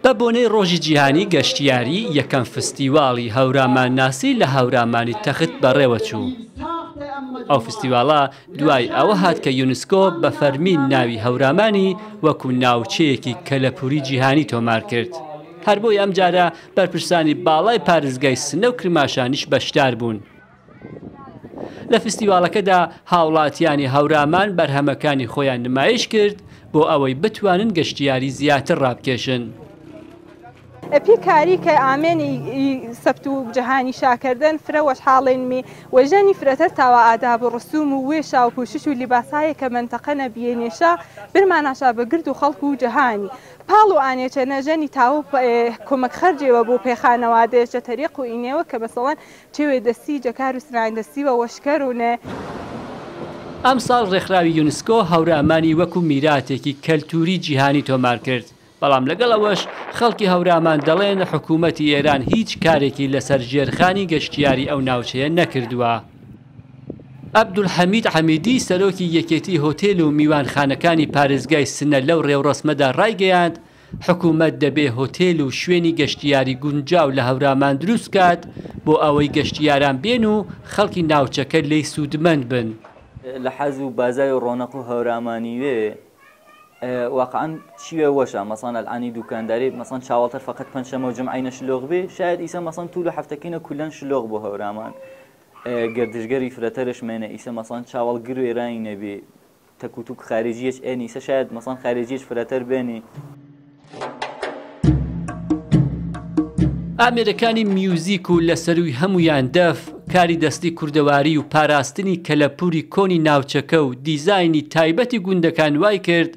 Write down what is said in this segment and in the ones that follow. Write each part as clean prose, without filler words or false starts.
بە بۆنەی ڕۆژی جیهانی گەشتیاری، یەکەم فستیواڵی هەورامانناسی لە هەورامانی تەخت بەڕێوەچوو. ئەو فستیواڵە دوای ئەوە هات کە یونسکۆ بە فەرمی ناوی هەورامانی وەکو ناوچەیەکی کەلەپووری جیهانی تۆمار کرد. هەر بۆیە ئەمجارە بەرپرسانی باڵای پارێزگای سنە و کرماشانیش بەشدار بوون. لە فستیواڵەکەدا هاوڵاتیانی هەورامان بەرهەمەکانی خۆیان نمایش کرد بۆ ئەوەی بتوانن گەشتیاری زیاتر ڕابکێشن. پی کاری کە ئامێن ئی سەبت و جەهانی شا کردن فرە وەشحاڵینمی و ژەنی فرەتر تاوا ئاداب و ڕسوم و وێشا و پوشش و لیباساێ کە مەنتەقە نەبیەنێشا برماناشا بە گرد و خەڵک و جەهانی پاڵ و ئانێچە نە ژەنی تاوە کۆمەک خەرجێوە بۆ پێ خانەوادەێش جە تەریق و ئینێوە کە مەسەڵەن چێوێ دەسی جە کار و سناین دەسی وە وەشکەر و نە. ئەمساڵ ڕێکخراوی یونسکۆ هەورامانی وەکو میراتێکی کەلتووری جیهانی تۆمار کرد، بەڵام لەگەڵ ئەوەش خەڵکی هەورامان دەڵێن حکوومەتی ئێران هیچ کارێکی لەسەر ژێرخانی گەشتیاری ئەو ناوچەیە نەکردووە. عەبدولحەمید حەمیدی سەرۆکی یەکێتی هۆتێل و میوانخانەکانی پارێزگای سنە لەو ڕێوڕەسمەدا ڕایگەیاند، حکوومەت دەبێ هۆتێل و شوێنی گەشتیاری گونجاو لە هەورامان دروست بکات بۆ ئەوەی گەشتیاران بێن و خەڵکی ناوچەکە لێی سوودمەند بن. لە حەز و بازای و ڕۆنەق و هەورامانیوێ واقعا چیوێ وەشە مەسان الانی دوکانداری مەسان چاوەڵتەر فقط پەنجشەمە و جمعەی شلۆغ بێ شاید ئیسە مەسان طول هەفتەکینە کولەن شلۆغ بۆ هەورامان گردشگەری فرەتەرش مێنە ئیسە مەسان چاوەڵ گر ئێرانی نەبێ تەک و توک خارجیەچ ئێنی ئیسە شاید مەسان خارجیەچ فرەتەر بێنی. ئامێرەکانی میوزیک و لە سەرووی هەموویان دەف، کاری دەستی کوردەواری و پاراستنی کەلەپووری کۆنی ناوچەکە و دیزاینی تایبەتی گوندەکان وای کرد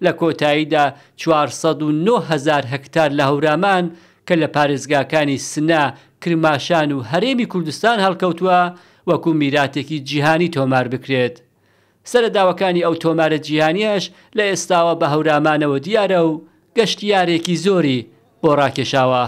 لە کۆتاییدا 409,000 هەکتار لە هەورامان کە لە پارێزگاکانی سنە، کرماشان و هەرێمی کوردستان هەڵکەوتووە وەکوو میراتێکی جیهانی تۆمار بکرێت. سەرەداوەکانی ئەو تۆمارە جیهانییەش لە ئێستاوە بە هەورامانەوە دیارە و گەشتیارێکی زۆری بۆ ڕاکێشاوە.